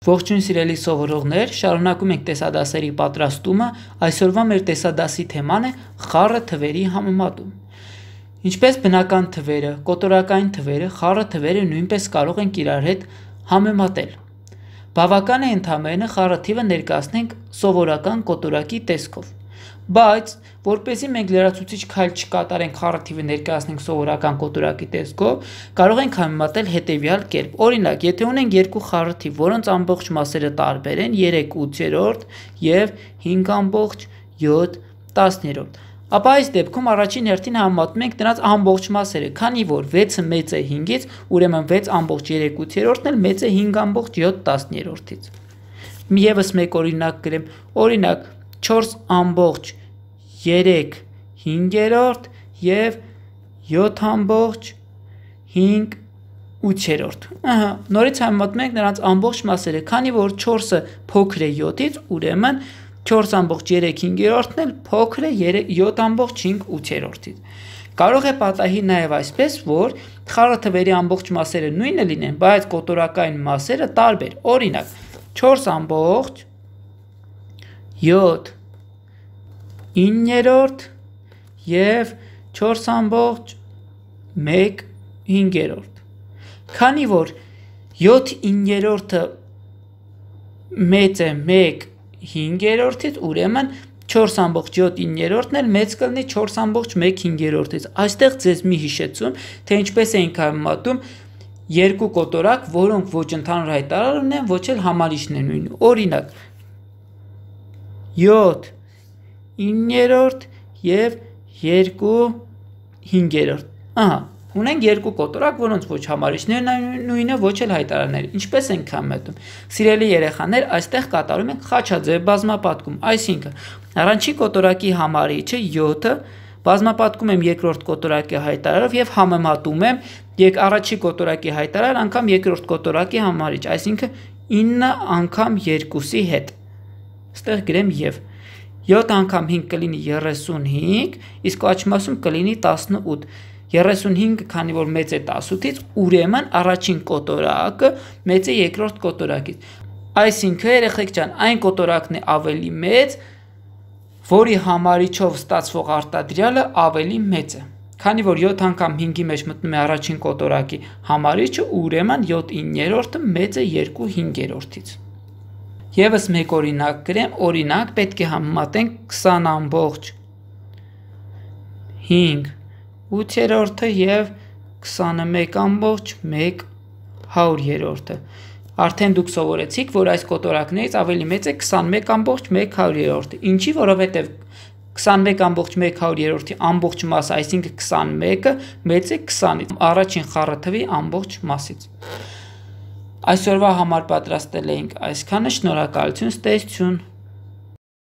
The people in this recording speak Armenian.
Ողջույն սիրելի սովորողներ, շարունակում ենք տեսադասերի պատրաստումը, այսօրվա մեր տեսադասի թեման է խառը թվերի համեմատում։ Ինչպես բնական թվերը, կոտորակային թվերը, խառը թվերը նույնպես կարող ենք իրար հետ համեմատել։ Բավական է ընդամենը խառը թիվը ներկայացնենք սովորական կոտորակի տեսքով, բայց որպեսզի մենք լրացուցիչ քայլ չկատարենք խառը թիվը ներկայացնենք սովորական կոտորակի տեսքով, կարող ենք համեմատել հետևյալ կերպ։ Օրինակ, եթե ունենք երկու խառը թիվ, որոնց ամբողջ մասերը տարբեր են 3/8 եւ 5/7, ապա այս դեպքում առաջին հերթին համեմատում ենք նրանց ամբողջ մասերը, քանի որ 6-ը մեծ է 5-ից, ուրեմն 6/3-ն էլ մեծ է 5/7-ից։ Եվս մեկ օրինակ գրեմ, օրինակ 4/3/5 եւ 7/5/8։ Նորից համեմատում ենք նրանց ամբողջ մասերը, քանի որ 4-ը փոքր է 7-ից, ուրեմն 4/3/5-ն էլ փոքր է 7/5/8-ից։ Կարող է պատահի նաև այսպես, որ խառը թվերի ամբողջ մասերը նույնը լինեն, բայց կոտորակային մասերը տարբեր։ Օրինակ 4/7/9 եւ 4/1/5։ Քանի որ 7/9 մեծ է 1/5-ից, ուրեմն 4/7/9-ն էլ մեծ կլինի 4/1/5-ից։ Այստեղ ձեզ մի հիշեցում, թե ինչպես էինք համեմատում երկու կոտորակ, որոնք ոչ ընդհանուր հայտարար ունեն, ոչ էլ համարիչն են նույնը։ Օրինակ 7/9 եւ 2/5։ Ունենք երկու կոտորակ, որոնց ոչ համարիչներն են նույնը, ոչ էլ հայտարարները։ Ինչպես ենք համեմատում։ Սիրելի երեխաներ, այստեղ կատարում ենք խաչաձև բազմապատկում, այսինքն առաջին կոտորակի համարիչը 7-ը բազմապատկում եմ երկրորդ կոտորակի հայտարարով եւ համեմատում եմ առաջին կոտորակի հայտարար անգամ երկրորդ կոտորակի համարիչ, այսինքն 9 անգամ 2-ի հետ։ Այստեղ գրեմ եւ 7 անգամ 5 կլինի 35, իսկ աջ մասում կլինի 18։ 35, քանի որ մեծ է 18-ից, ուրեմն առաջին կոտորակը մեծ է երկրորդ կոտորակից։ Այսինքն, երեխեք ջան, այն կոտորակն է ավելի մեծ, որի համարիչով ստացվող արտադրյալը ավելի մեծ է։ Քանի որ 7 անգամ 5-ի մեջ մտնում է առաջին կոտորակի համարիչը, ուրեմն 7/9-ը մեծ է 2/5-ից։ Եվս մեկ օրինակ գրեմ, օրինակ պետք է համեմատենք 20/5/8 եւ 21/1/100։ Արդեն դուք սովորեցիք, որ այս կոտորակներից ավելի մեծ է 21/100։ Ինչի, որովհետև 21/100-ի ամբողջ մասը, այսինքն 21-ը մեծ է 20-ից, առաջին խառը թվի ամբողջ մասից։ Այսօրվա համար պատրաստել էինք այսքանը, շնորհակալություն, ստեսություն։